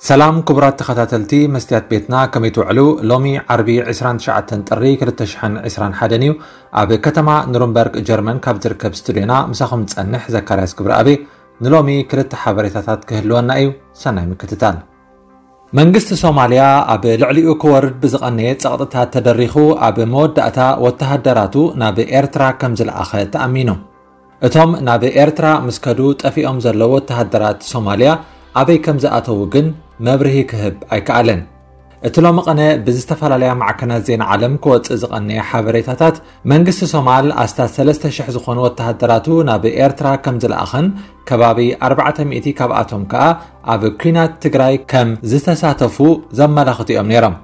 ሰላም ክቡራት ተኸታተልቲ መስትያት ቤትና፣ ከመይ ትውዕሉ? ሎሚ ዓርቢ ዕስራን ትሽዓተን ጥሪ ክልተ ሽሕን ዕስራን ሓደን እዩ። ኣብ ከተማ ኑርንበርግ ጀርመን ካብ ዝርከብ ስቱድዮና ምሳኹም ዝጸንሕ ዘካርያስ ክብረኣብ። ንሎሚ ክልተ ሓበሬታታት ክህልወና እዩ። ሰናይ ምክትታል። መንግስቲ ሶማልያ ኣብ ልዕሊኡ ክወርድ ብዝቐነየ ጸቕጥታት ተደሪኹ፣ ኣብ መወዳእታ ወተሃደራቱ ናብ ኤርትራ ከም ዝለኣኸ ተኣሚኑ። እቶም ናብ ኤርትራ ምስ ከዱ ጠፊኦም ዘለዉ ወተሃደራት ሶማልያ ኣበይ ከም ዝኣተዉ ግን መብርሂ ክህብ ኣይከኣለን። እቲ ሎሚ ቐነ ብዝተፈላለያ ማዕከናት ዜና ዓለም ክወጽእ ዝቐነየ ሓበሬታታት፣ መንግስቲ ሶማል ኣስታት ሰለስተ ሽሕ ዝኾኑ ወተሃደራቱ ናብ ኤርትራ ከም ዝለኣኸን፣ ከባቢ ኣርባዕተ ሚእቲ ካብኣቶም ከኣ ኣብ ኲናት ትግራይ ከም ዝተሳተፉ ዘመላኽቱ እዮም ነይሮም።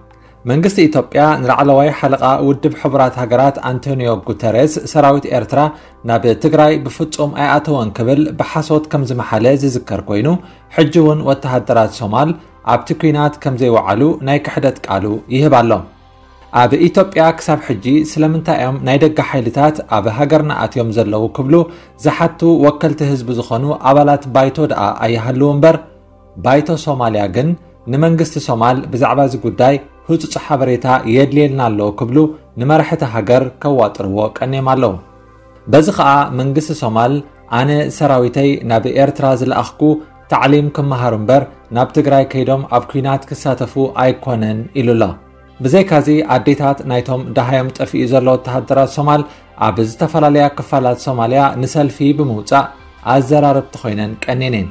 መንግስቲ ኢትዮጵያ ንላዕለዋይ ሓለቓ ውድብ ሕቡራት ሃገራት ኣንቶኒዮ ጉተሬስ፣ ሰራዊት ኤርትራ ናብ ትግራይ ብፍጹም ኣይኣተወን ክብል ብሓሶት ከም ዝመሓለ ዝዝከር ኮይኑ፣ ሕጂ እውን ወተሃደራት ሶማል ኣብቲ ኲናት ከም ዘይወዓሉ ናይ ክሕደት ቃሉ ይህብ ኣሎ። ኣብ ኢትዮጵያ ክሳብ ሕጂ ስለምንታይ እዮም ናይ ደገ ሓይልታት ኣብ ሃገርና ኣትዮም ዘለዉ ክብሉ ዝሓቱ ወከልቲ ህዝቢ ዝኾኑ ኣባላት ባይቶ ደኣ ኣይሃልዉ እምበር፣ ባይቶ ሶማልያ ግን ንመንግስቲ ሶማል ብዛዕባ እዚ ጉዳይ ህጹጽ ሓበሬታ የድልየልና ኣሎ ክብሉ ንመራሕቲ ሃገር ከዋጥርዎ ቀንዮም ኣለዉ። በዚ ኸኣ መንግስቲ ሶማል፣ ኣነ ሰራዊተይ ናብ ኤርትራ ዝለኣኽኩ ታዕሊም ክመሃሩ እምበር ናብ ትግራይ ከይዶም ኣብ ኲናት ክሳተፉ ኣይኮነን ኢሉ ኣሎ። ብዘይካዚ ኣዴታት ናይቶም ደሃዮም ጠፊኡ ዘሎ ወተሃደራት ሶማል ኣብ ዝተፈላለያ ክፋላት ሶማልያ ንሰልፊ ብምውጻእ ኣዘራረብቲ ኮይነን ቀኒነን።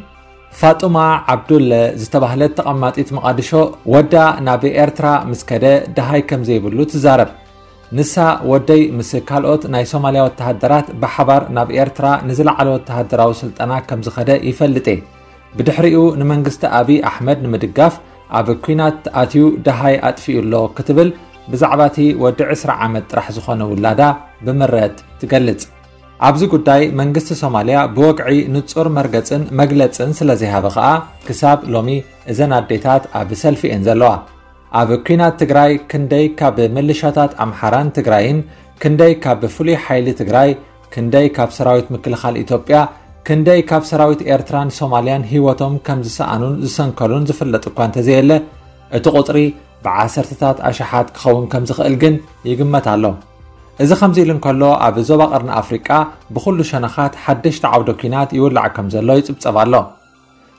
ፋጡማ ዓብዱለ ዝተባህለት ተቐማጢት መቓድሾ፣ ወዳ ናብ ኤርትራ ምስ ከደ ደሃይ ከም ዘይብሉ ትዛረብ። ንሳ፣ ወደይ ምስ ካልኦት ናይ ሶማልያ ወተሃደራት ብሓባር ናብ ኤርትራ ንዝለዓለ ወተሃደራዊ ስልጠና ከም ዝኸደ ይፈልጥ እየ። ብድሕሪኡ ንመንግስቲ ኣብይ ኣሕመድ ንምድጋፍ ኣብ ኲናት ኣትዩ ደሃይ ኣጥፊኡ ኣሎ ክትብል ብዛዕባ እቲ ወዲ ዕስራ ዓመት ጥራሕ ዝኾነ ውላዳ ብምረት ትገልጽ። ኣብዚ ጉዳይ መንግስቲ ሶማልያ ብወግዒ ንጹር መርገጽን መግለጽን ስለ ዘይሃበ ከኣ ክሳብ ሎሚ እዘን ኣዴታት ኣብ ሰልፊ እየን ዘለዋ። ኣብ ኲናት ትግራይ ክንደይ ካብ ምልሻታት ኣምሓራን ትግራይን፣ ክንደይ ካብ ፍሉይ ሓይሊ ትግራይ፣ ክንደይ ካብ ሰራዊት ምክልኻል ኢትዮጵያ፣ ክንደይ ካብ ሰራዊት ኤርትራን ሶማልያን ህይወቶም ከም ዝሰኣኑን ዝሰንከሉን ዝፍለጥ እኳ እንተዘየለ፣ እቲ ቁጽሪ ብዓሰርተታት ኣሽሓት ክኸውን ከም ዝኽእል ግን ይግመት ኣሎ። እዚ ከምዚ ኢሉ እንከሎ፣ ኣብ ዞባ ቀርኒ ኣፍሪቃ ብኹሉ ሸነኻት ሓደሽቲ ዓውደ ኲናት ይውላዕ ከም ዘሎ ይጽብጸብ ኣሎ።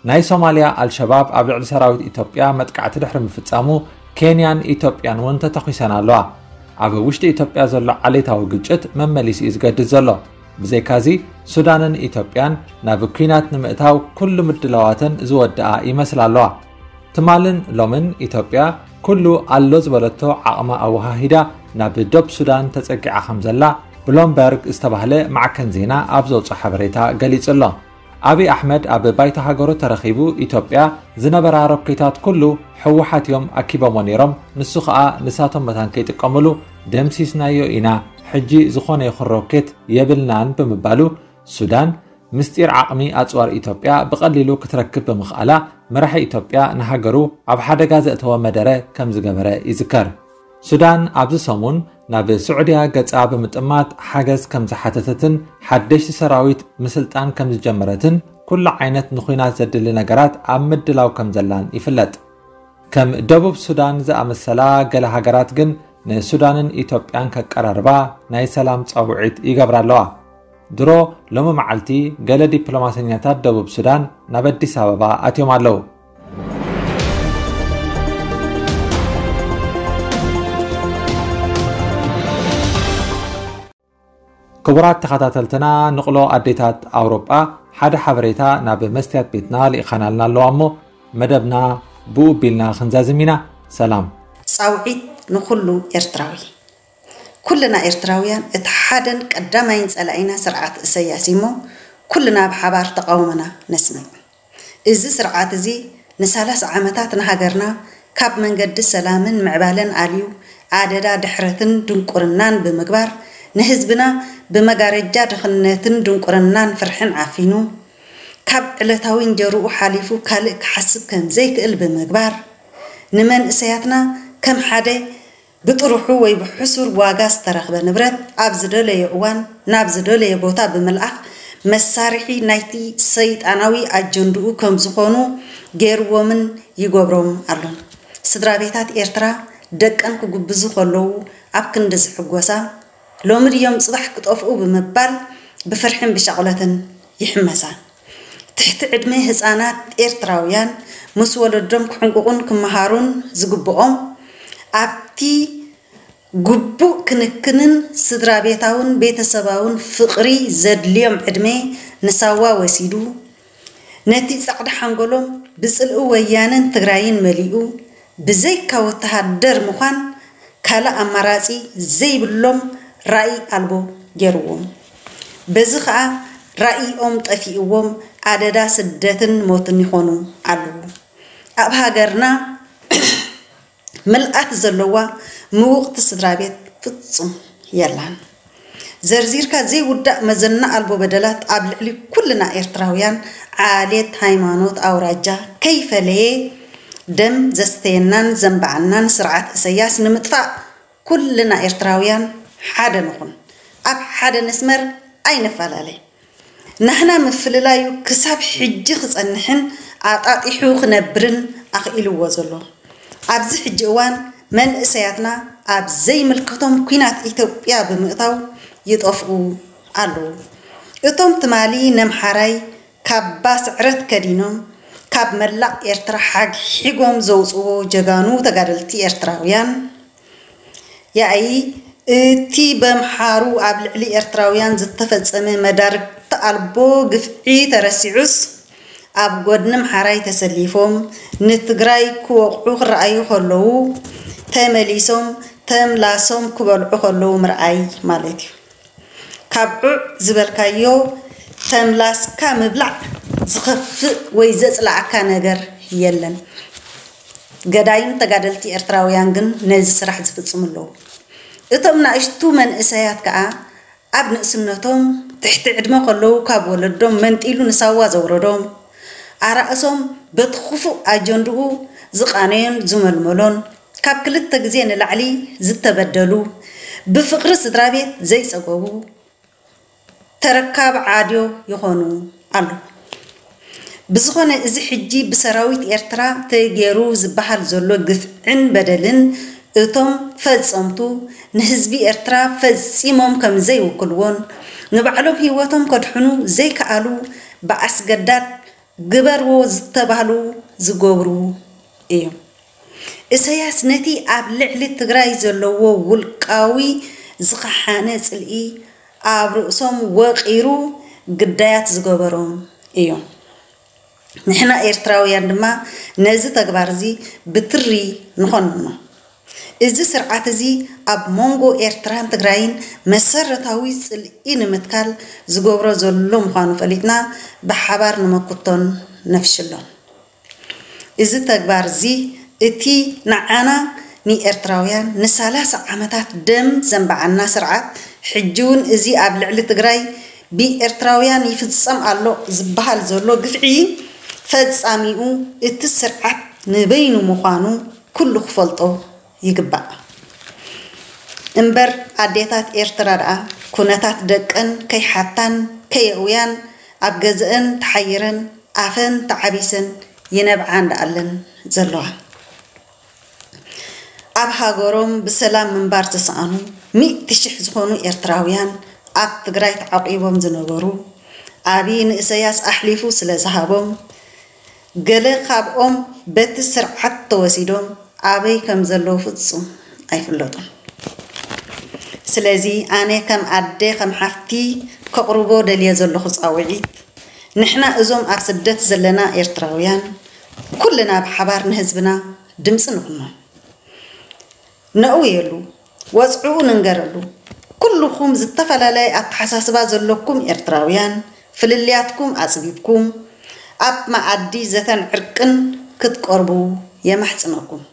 ናይ ሶማልያ ኣልሸባብ ኣብ ልዕሊ ሰራዊት ኢትዮጵያ መጥቃዕቲ ድሕሪ ምፍጻሙ፣ ኬንያን ኢትዮጵያን እውን ተተኲሰን ኣለዋ። ኣብ ውሽጢ ኢትዮጵያ ዘሎ ዓሌታዊ ግጭት መመሊሱ እዩ ዝገድድ ዘሎ። ብዘይካዚ፣ ሱዳንን ኢትዮጵያን ናብ ኲናት ንምእታው ኩሉ ምድላዋተን ዝወድኣ ይመስላ ኣለዋ። ትማልን ሎምን ኢትዮጵያ ኩሉ ኣሎ ዝበለቶ ዓቕማ ኣወሃሂዳ ናብ ዶብ ሱዳን ተጸጊዓ ከም ዘላ ብሎምበርግ ዝተባህለ ማዕከን ዜና ኣብ ዘውፅኦ ሓበሬታ ገሊጹ ኣሎ። ኣብይ ኣሕመድ ኣብ ባይቶ ሃገሩ ተረኺቡ፣ ኢትዮጵያ ዝነበራ ሮኬታት ኩሉ ህወሓት እዮም ኣኪቦሞ ነይሮም፣ ንሱ ኸኣ ንሳቶም መታን ከይጥቀምሉ ደምሲስናዮ ኢና፣ ሕጂ ዝኾነ ይኹን ሮኬት የብልናን ብምባሉ፣ ሱዳን ምስጢር ዓቕሚ ኣጽዋር ኢትዮጵያ ብቐሊሉ ክትረክብ ብምኽኣላ፣ መራሒ ኢትዮጵያ ንሃገሩ ኣብ ሓደጋ ዘእተወ መደረ ከም ዝገበረ ይዝከር። ሱዳን ኣብዚ ሰሙን ናብ ስዑድያ ገጻ ብምጥማት ሓገዝ ከም ዝሓተተትን ሓደሽቲ ሰራዊት ምስልጣን ከም ዝጀመረትን፣ ኩሉ ዓይነት ንኹናት ዘድሊ ነገራት ኣብ ምድላው ከም ዘላን ይፍለጥ። ከም ደቡብ ሱዳን ዝኣመሰላ ገለ ሃገራት ግን ንሱዳንን ኢትዮጵያን ከቀራርባ ናይ ሰላም ጻውዒት ይገብራ ኣለዋ። ድሮ ሎሚ መዓልቲ ገለ ዲፕሎማሰኛታት ደቡብ ሱዳን ናብ ኣዲስ ኣበባ ኣትዮም ኣለዉ። ክቡራት ተኸታተልትና፣ ንቕሎ ኣዴታት ኣውሮጳ ሓደ ሓበሬታ ናብ መስትያት ቤትና ልኢኻናልና ኣለዋ እሞ፣ መደብና ብኡ ኣቢልና ክንዛዝም ኢና። ሰላም። ጻውዒት ንኹሉ ኤርትራዊ። ኩልና ኤርትራውያን እቲ ሓደን ቀዳማይን ጸላኢና ስርዓት እሰያስ እዩ እሞ፣ ኩልና ብሓባር ተቓውሞና ነስምዕ። እዚ ስርዓት እዚ ንሳላሳ ዓመታት ንሃገርና ካብ መንገዲ ሰላምን ምዕባለን ኣልዩ፣ ኣደዳ ድሕረትን ድንቁርናን ብምግባር፣ ንህዝብና ብመጋረጃ ድኽነትን ድንቁርናን ፍርሕን ዓፊኑ፣ ካብ ዕለታዊ እንጀርኡ ሓሊፉ ካልእ ክሓስብ ከም ዘይክእል ብምግባር፣ ንመንእሰያትና ከም ሓደ ብጥርሑ ወይ ብሕሱር ዋጋ ዝተረኽበ ንብረት ኣብ ዝደለዮ እዋን ናብ ዝደለዮ ቦታ ብምልኣኽ መሳርሒ ናይቲ ሰይጣናዊ ኣጀንድኡ ከም ዝኾኑ ገይርዎምን ይገብሮም ኣሎን። ስድራ ቤታት ኤርትራ ደቀን ክጉብዙ ከለዉ ኣብ ክንዲ ዝሕጎሳ፣ ሎሚ ድዮም ጽባሕ ክጠፍኡ ብምባል ብፍርሕን ብሻቕሎትን ይሕመሳ። ትሕቲ ዕድመ ህጻናት ኤርትራውያን ምስ ወለዶም ክሕንቁቑን ክመሃሩን ዝግብኦም ኣብቲ ግቡእ ክንክንን ስድራ ቤታውን ቤተሰባውን ፍቕሪ ዘድልዮም ዕድመ ንሳዋ ወሲዱ፣ ነቲ ጻዕዳ ሓንጎሎም ብጽልኢ ወያነን ትግራይን መሊኡ፣ ብዘይካ ወተሃደር ምዃን ካልእ ኣማራጺ ዘይብሎም ራኢ ኣልቦ ገይርዎም። በዚ ኸኣ ራኢኦም ጠፊእዎም ኣደዳ ስደትን ሞትን ይኾኑ ኣለዉ። ኣብ ሃገርና ምልኣት ዘለዋ ምውቕቲ ስድራ ቤት ፍጹም የላን። ዘርዚርካ ዘይውዳእ መዘና ኣልቦ በደላት ኣብ ልዕሊ ኩልና ኤርትራውያን፣ ዓሌት፣ ሃይማኖት፣ ኣውራጃ ከይፈለየ ደም ዘስተየናን ዘንበዓናን ስርዓት እሰያስ ንምጥፋእ ኩልና ኤርትራውያን ሓደ ንኹን። ኣብ ሓደ ነስመር ኣይንፈላለ። ናህና ምፍልላዩ ክሳብ ሕጂ ክጸንሕን ኣጣጢሑ ክነብርን ኣኽኢልዎ ዘሎ። ኣብዚ ሕጂ እዋን መንእሰያትና ኣብ ዘይምልከቶም ኲናት ኢትዮጵያ ብምእታው ይጠፍኡ ኣለዉ። እቶም ትማሊ ነምሓራይ ካባ ስዕረት ከዲኖም ካብ መላእ ኤርትራ ሓግሒጎም ዘውጽዎ ጀጋኑ ተጋደልቲ ኤርትራውያን፣ ያኢ እቲ በምሓሩ ኣብ ልዕሊ ኤርትራውያን ዝተፈጸመ መዳርግቲ ኣልቦ ግፍዒ ተረሲዑስ፣ ኣብ ጎድኒ ምሓራይ ተሰሊፎም ንትግራይ ክወቕዑ ክረኣዩ ከለዉ፣ ተመሊሶም ተምላሶም ክበልዑ ከለዉ ምርኣይ ማለት እዩ። ካብ ዑዕ ዝበልካዮ ተምላስካ ምብላዕ ዝኸፍእ ወይ ዘጽላኣካ ነገር የለን። ገዳይም ተጋደልቲ ኤርትራውያን ግን ነዚ ስራሕ ዝፍጽሙ ኣለዉ። እቶም ናእሽቱ መንእሰያት ከኣ ኣብ ንእስነቶም ትሕቲ ዕድመ ከለዉ ካብ ወለዶም መንጢሉ ንሳዋ ዘውረዶም፣ ኣራእሶም በቲ ክፉእ ኣጀንድኡ ዝቓነዮን ዝመልመሎን፣ ካብ ክልተ ግዜ ንላዕሊ ዝተበደሉ፣ ብፍቕሪ ስድራ ቤት ዘይጸገቡ፣ ተረካብ ዓድዮ ይኾኑ ኣለዉ። ብዝኾነ፣ እዚ ሕጂ ብሰራዊት ኤርትራ ተገይሩ ዝበሃል ዘሎ ግፍዕን በደልን፣ እቶም ፈጸምቱ ንህዝቢ ኤርትራ ፈጺሞም ከም ዘይውክልዎን፣ ንባዕሎም ህይወቶም ከድሕኑ ዘይከኣሉ፣ ብኣስገዳድ ግበርዎ ዝተባህሉ ዝገብሩ እዮም። ኢሰያስ ነቲ ኣብ ልዕሊ ትግራይ ዘለዎ ውልቃዊ ዝኸሓነ ጽልኢ ኣብ ርእሶም ወቒሩ ግዳያት ዝገበሮም እዮም። ንሕና ኤርትራውያን ድማ ነዚ ተግባር እዚ ብትሪ ንኾንኖ። እዚ ስርዓት እዚ ኣብ መንጎ ኤርትራን ትግራይን መሰረታዊ ጽልኢ ንምትካል ዝገብሮ ዘሎ ምዃኑ ፈሊጥና ብሓባር ንመክቶን ነፍሽሎን። እዚ ተግባር እዚ እቲ ንዓና ንኤርትራውያን ንሳላሳ ዓመታት ደም ዘንበዓና ስርዓት፣ ሕጂ እውን እዚ ኣብ ልዕሊ ትግራይ ብኤርትራውያን ይፍጸም ኣሎ ዝበሃል ዘሎ ግፍዒ ፈጻሚኡ እቲ ስርዓት ንበይኑ ምዃኑ ኩሉ ክፈልጦ ይግባእ። እምበር ኣዴታት ኤርትራ ደኣ ኩነታት ደቀን ከይሓታን ከየእውያን ኣብ ገዘአን ተሓይረን ኣፈን ተዓቢሰን ይነብዓ እንዳኣለን ዘለዋ። ኣብ ሃገሮም ብሰላም ምንባር ዝሰኣኑ ሚእቲ ሽሕ ዝኾኑ ኤርትራውያን ኣብ ትግራይ ተዓቂቦም ዝነበሩ፣ ኣብይ ንእሰያስ ኣሕሊፉ ስለ ዝሃቦም፣ ገለ ካብኦም በቲ ስርዓት ተወሲዶም ኣበይ ከም ዘለዉ ፍጹም ኣይፍለጡን። ስለዚ ኣነ ከም ኣደ፣ ከም ሓፍቲ ከቕርቦ ደልየ ዘለኹ ጻውዒት፣ ንሕና እዞም ኣብ ስደት ዘለና ኤርትራውያን ኩልና ብሓባር ንህዝብና ድምጺ ንኹኖ። ነእውየሉ፣ ወጽዕኡ ንንገረሉ። ኩልኹም ዝተፈላለየ ኣተሓሳስባ ዘለኩም ኤርትራውያን፣ ፍልልያትኩም ኣጽቢብኩም፣ ኣብ መኣዲ ዘተን ዕርቅን ክትቀርቡ የማሕጽነኩም።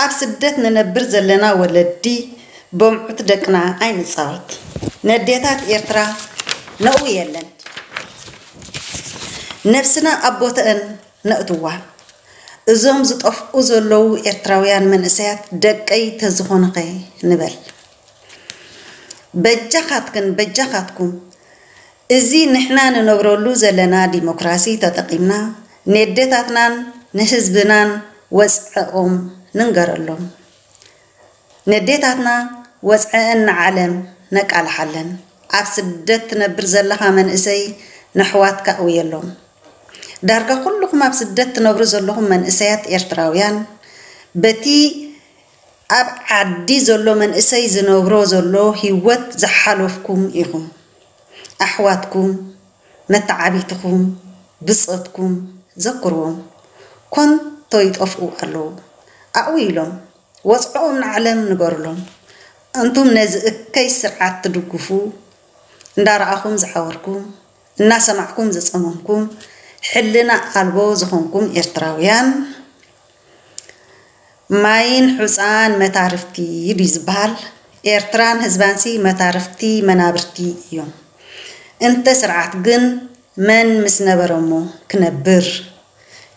ኣብ ስደት ንነብር ዘለና ወለዲ፣ በምዑት ደቅና ኣይንጻወት። ነዴታት ኤርትራ ነእውየለን። ነብስና ኣብ ቦተአን ነእትዋ። እዞም ዝጠፍኡ ዘለዉ ኤርትራውያን መንእሰያት ደቀይ ተዝኾኑኸ ንበል። በጃኻትክን በጃኻትኩም፣ እዚ ንሕና ንነብረሉ ዘለና ዲሞክራሲ ተጠቒምና፣ ነዴታትናን ንህዝብናን ወፅዐኦም ንንገረሎም። ነዴታትና ወፅዐአን ንዓለም ነቃልሓለን። ኣብ ስደት ትነብር ዘለኻ መንእሰይ፣ ንሕዋትካ እውየሎም። ዳርጋ ኩልኹም ኣብ ስደት ትነብሩ ዘለኹም መንእሰያት ኤርትራውያን፣ በቲ ኣብ ዓዲ ዘሎ መንእሰይ ዝነብሮ ዘሎ ህይወት ዝሓለፍኩም ኢኹም። ኣሕዋትኩም፣ መተዓቢትኹም፣ ብጾትኩም ዘክርዎም። ኮንቶ ይጠፍኡ ኣለዉ። ኣብኡ ኢሎም፣ ወጽዕኦም ንዓለም ንገሩሎም። እንቱም ነዚ እከይ ስርዓት ትድግፉ፣ እንዳረኣኹም ዝዓወርኩም፣ እናሰማዕኩም ዝጸመምኩም፣ ሕልና ኣልቦ ዝኾንኩም ኤርትራውያን፣ ማይን ሑጻን መታርፍቲ ድዩ ዝበሃል? ኤርትራን ህዝባንሲ መታርፍቲ መናብርቲ እዮም። እንተ ስርዓት ግን መን ምስ ነበረሞ ክነብር?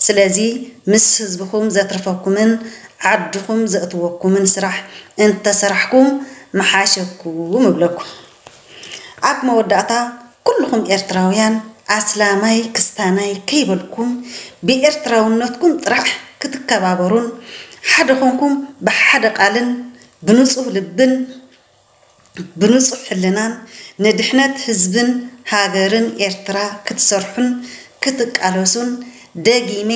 ስለዚ ምስ ህዝብኹም ዘትርፈኩምን ዓድኹም ዘእትወኩምን ስራሕ እንተሰራሕኩም ምሓሸኩም እብለኩም። ኣብ መወዳእታ ኩልኹም ኤርትራውያን ኣስላማይ ክስታናይ ከይበልኩም ብኤርትራውነትኩም ጥራሕ ክትከባበሩን ሓደ ኾንኩም ብሓደ ቃልን ብንጹህ ልብን ብንጹህ ሕልናን ንድሕነት ህዝብን ሃገርን ኤርትራ ክትሰርሑን ክትቃለሱን ደጊሜ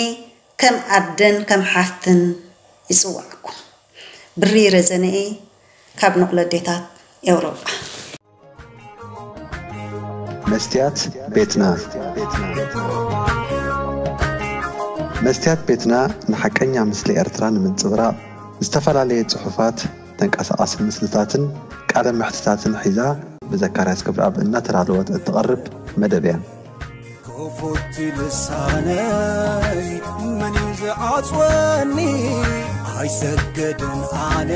ከም ኣደን ከም ሓፍትን ይጽውዓኩም። ብሪ ረዘነኤ ካብ ንቑለዴታት ኤውሮጳ። መስትያት ቤትና። መስትያት ቤትና ንሓቀኛ ምስሊ ኤርትራ ንምንጽብራቕ ዝተፈላለየ ጽሑፋት፣ ተንቀሳቓሲ ምስልታትን ቃለ መሕትታትን ሒዛ ብዘካርያስ ክብረኣብ እናተዳለወት እትቐርብ መደብ እያ። ክፉት ልሳነይ መን እዩ ዝዓጽወኒ? ኣይሰገድን ኣነ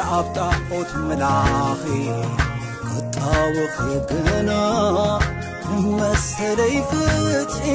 ኣብ ጣዖት ምላኺ ክጣወኺ ግና መሰለይ ፍትሒ